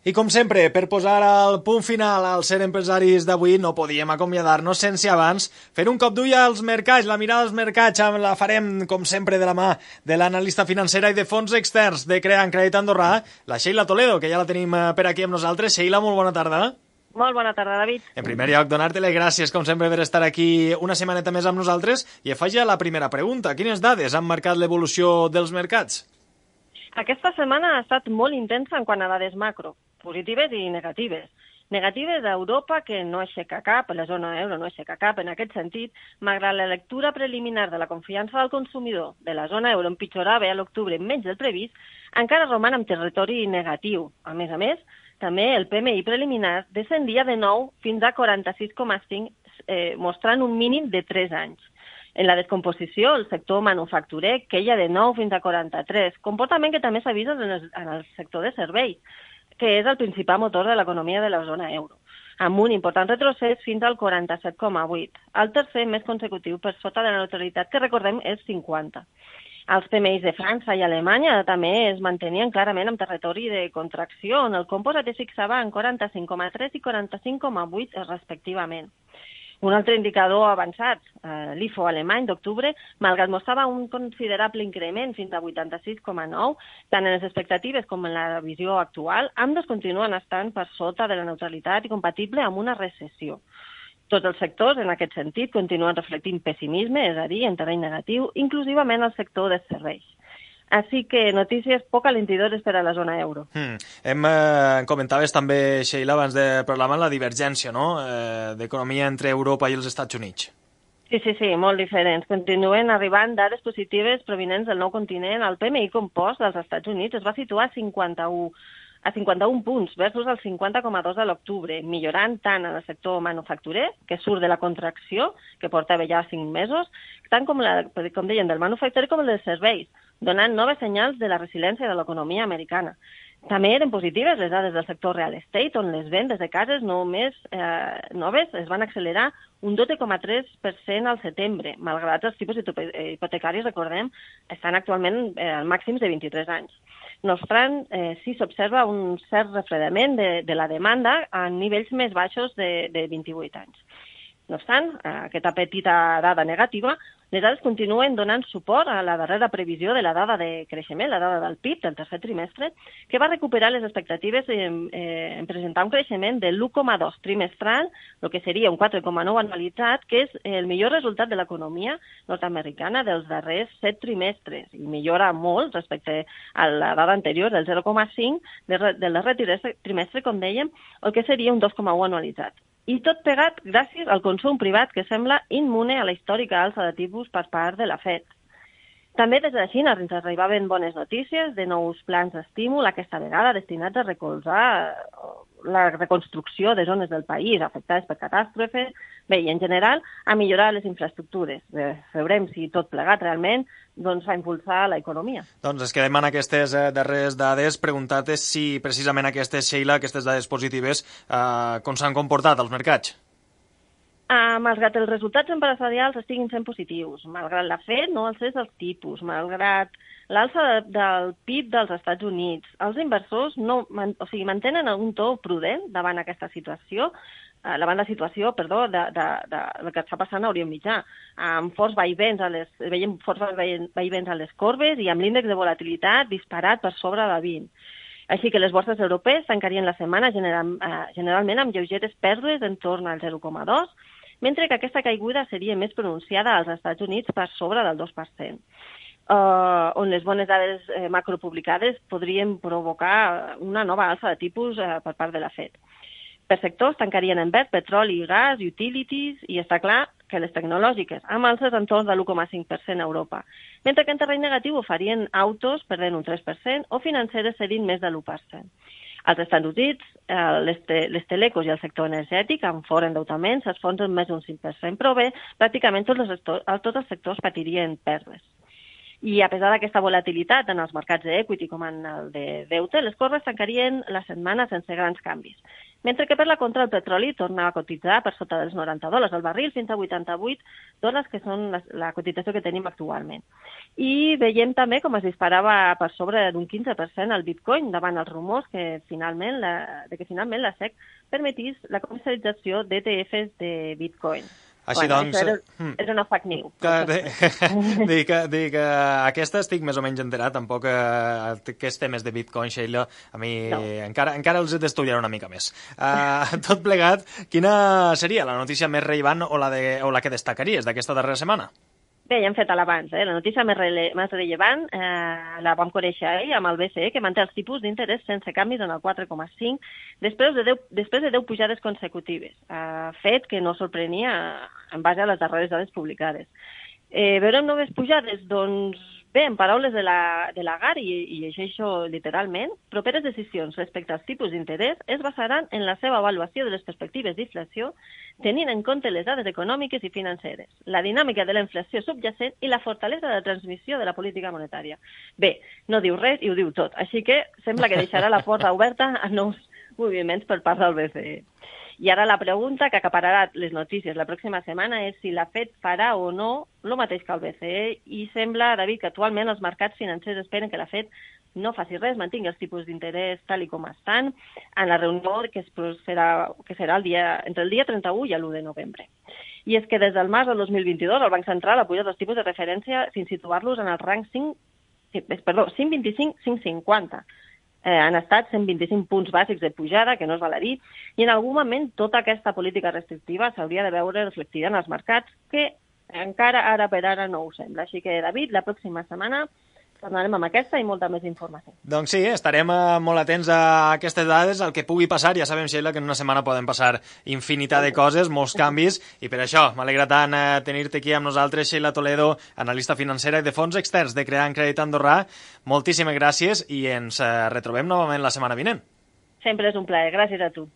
I com sempre, per posar el punt final al Ser Empresaris d'avui, no podíem acomiadar-nos sense abans fer un cop d'ull als mercats. La mirada als mercats la farem, com sempre, de la mà de l'analista financera i de fons externs de Creant Crèdit Andorrà, la Sheila Toledo, que ja la tenim per aquí amb nosaltres. Sheila, molt bona tarda. Molt bona tarda, David. En primer lloc, donar-te les gràcies, com sempre, per estar aquí una setmaneta més amb nosaltres. I faig ja la primera pregunta. Quines dades han marcat l'evolució dels mercats? Aquesta setmana ha estat molt intensa en quant a dades macro, positives i negatives. Negatives a Europa, que no aixeca cap, la zona euro no aixeca cap en aquest sentit, malgrat la lectura preliminar de la confiança del consumidor de la zona euro empitjorava a l'octubre menys del previst, encara roman en territori negatiu. A més, també el PMI preliminar descendia de nou fins a 46,5, mostrant un mínim de 3 anys. En la descomposició, el sector manufacturer queia de 9 fins a 43, comportament que també s'ha vist en el sector de serveis, que és el principal motor de l'economia de la zona euro, amb un important retrocés fins al 47,8, el tercer més consecutiu per sota de la neutralitat, que recordem és 50. Els PMIs de França i Alemanya també es mantenien clarament en territori de contracció, on el composat es fixava en 45,3 i 45,8 respectivament. Un altre indicador avançat, l'IFO alemany d'octubre, malgrat mostrava un considerable increment fins a 86,9, tant en les expectatives com en la visió actual, ambdós continuen estant per sota de la neutralitat i compatible amb una recessió. Tots els sectors, en aquest sentit, continuen reflectint pessimisme, és a dir, en terreny negatiu, inclusivament el sector dels serveis. Així que notícies poc alentidores per a la zona euro. Comentaves també, Sheila, abans de parlar la divergència, no?, d'economia entre Europa i els Estats Units. Sí, molt diferents. Continuen arribant dades positives provinents del nou continent. El PMI compost dels Estats Units es va situar a 51 punts versus el 50,2 de l'octubre, millorant tant en el sector manufacturer, que surt de la contracció, que portava ja 5 mesos, tant com deien, del manufacturer com el dels serveis, donant noves senyals de la resiliència de l'economia americana. També eren positives les dades del sector real estate, on les vendes de cases noves es van accelerar un 12,3% al setembre, malgrat els tipus hipotecaris, recordem, estan actualment als màxims de 23 anys. No obstant, sí s'observa un cert refredament de la demanda a nivells més baixos de 28 anys. No obstant, aquesta petita dada negativa, les dades continuen donant suport a la darrera previsió de la dada de creixement, la dada del PIB del tercer trimestre, que va recuperar les expectatives en presentar un creixement de l'1,2 trimestral, el que seria un 4,9 anualitzat, que és el millor resultat de l'economia nord-americana dels darrers 7 trimestres, i millora molt respecte a la dada anterior del 0,5 del darrer trimestre, com dèiem, el que seria un 2,1 anualitzat. I tot pegat gràcies al consum privat, que sembla immune a la històrica alça de tipus per part de la FED. També des de la Xina ens arribaven bones notícies de nous plans d'estímul, aquesta vegada destinats a recolzar la reconstrucció de zones del país afectades per catàstrofes, bé, i en general a millorar les infraestructures. Veurem si tot plegat realment fa impulsar l'economia. Doncs es quedem en aquestes darreres dades, preguntar-te si precisament aquestes, Sheila, aquestes dades positives, com s'han comportat als mercats? Malgrat els resultats empresarials estiguin sent positius, malgrat la FED no alcés els tipus, malgrat l'alça del PIB dels Estats Units, els inversors mantenen un to prudent davant aquesta situació, davant la situació, del que està passant a Orient Mitjà, amb forts vaivents a les corbes i amb l'índex de volatilitat disparat per sobre de 20. Així que les borses europees tancarien la setmana generalment amb lleugeres pèrdues entorn al 0,2, mentre que aquesta caiguda seria més pronunciada als Estats Units per sobre del 2%, on les bones dades macropublicades podrien provocar una nova alça de tipus per part de la FED. Per sectors tancarien en verd petroli i gas, utilities, i està clar que les tecnològiques, amb alces entorn de l'1,5% a Europa, mentre que en terreny negatiu ho farien autos, perdent un 3%, o financeres cedint més de l'1%. Als Estats Units, les telecos i el sector energètic, amb fort endeutament, s'esfonsen més d'un 5%, però bé, pràcticament tots els sectors patirien pèrdues. I a pesar d'aquesta volatilitat en els mercats d'equity com en el de deute, les corbes tancarien la setmana sense grans canvis. mentre que per la contra el petroli torna a cotitzar per sota dels $90 al barril fins a $88, que són la cotització que tenim actualment. I veiem també com es disparava per sobre d'un 15% el Bitcoin davant els rumors que finalment la SEC permetís la comercialització d'ETFs de Bitcoin. Així doncs... És una fake news. Dic que aquesta estic més o menys enterat, tampoc aquests temes de Bitcoin, Sheila, a mi encara els he d'estudiar una mica més. Tot plegat, quina seria la notícia més rellevant o la que destacaries d'aquesta darrera setmana? Bé, ja hem fet l'abans. La notícia més rellevant la vam conèixer ahir amb el BCE, que manté els tipus d'interès sense canvis en el 4,5 després de 10 pujades consecutives, fet que no sorprenia en base a les darreres dades publicades. Veurem noves pujades? Doncs bé, en paraules de Lagarde, i llegeixo literalment, properes decisions respecte als tipus d'interès es basaran en la seva avaluació de les perspectives d'inflació, tenint en compte les dades econòmiques i financeres, la dinàmica de la inflació subjacent i la fortalesa de la transmissió de la política monetària. Bé, no diu res i ho diu tot, així que sembla que deixarà la porta oberta a nous moviments per part del BCE. I ara la pregunta que acapararà les notícies la pròxima setmana és si la FED farà o no el mateix que el BCE, i sembla, David, que actualment els mercats financers esperen que la FED no faci res, mantingui els tipus d'interès tal i com estan en la reunió que serà entre el dia 31 i l'1 de novembre. I és que des del març del 2022 el Banc Central ha pujat els tipus de referència fins situar-los en el rang 5,25-5,50. Han estat 125 punts bàsics de pujada, que no es val a dir, i en algun moment tota aquesta política restrictiva s'hauria de veure reflectida en els mercats, que encara ara per ara no ho sembla. Així que, David, la pròxima setmana tornarem amb aquesta i molta més informació. Doncs sí, estarem molt atents a aquestes dades, al que pugui passar. Ja sabem, Sheila, que en una setmana poden passar infinitat de coses, molts canvis, i per això m'alegra tant tenir-te aquí amb nosaltres, Sheila Toledo, analista financera i de fons externs de Creant Crèdit Andorrà. Moltíssimes gràcies i ens retrobem novament la setmana vinent. Sempre és un plaer. Gràcies a tu.